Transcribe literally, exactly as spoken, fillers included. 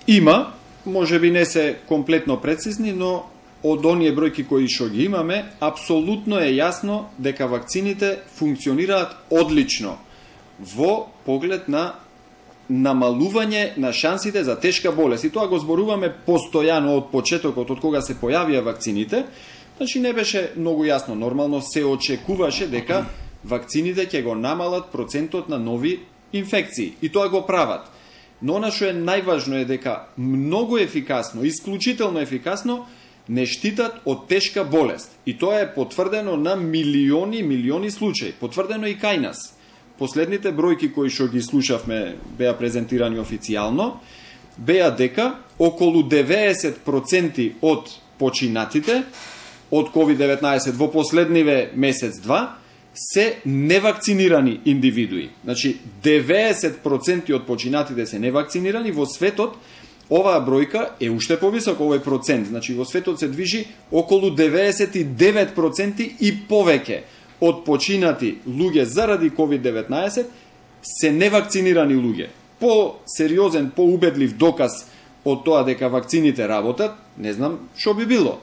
Има, може би не се комплетно прецизни, но од оние бројки кои што ги имаме, апсолутно е јасно дека вакцините функционираат одлично во поглед на намалување на шансите за тешка болест. И тоа го зборуваме постојано од почетокот, од кога се појавија вакцините. Значи не беше многу јасно. Нормално се очекуваше дека вакцините ќе го намалат процентот на нови инфекции. И тоа го прават. Но она што е најважно е дека многу ефикасно, исклучително ефикасно, не штитат од тешка болест. И тоа е потврдено на милиони, милиони случаи. Потврдено и кај нас. Последните бројки кои што ги слушавме беа презентирани официјално, беа дека околу деветдесет проценти од починатите од ковид деветнаесет во последниве месец-два се невакцинирани индивидуи. Значи, деветдесет проценти од починатите се невакцинирани. Во светот оваа бројка е уште повисока, овој процент. Значи, во светот се движи околу деветдесет и девет проценти и повеќе од починати луѓе заради ковид деветнаесет се невакцинирани луѓе. По-сериозен, по-убедлив доказ од тоа дека вакцините работат, не знам што би било.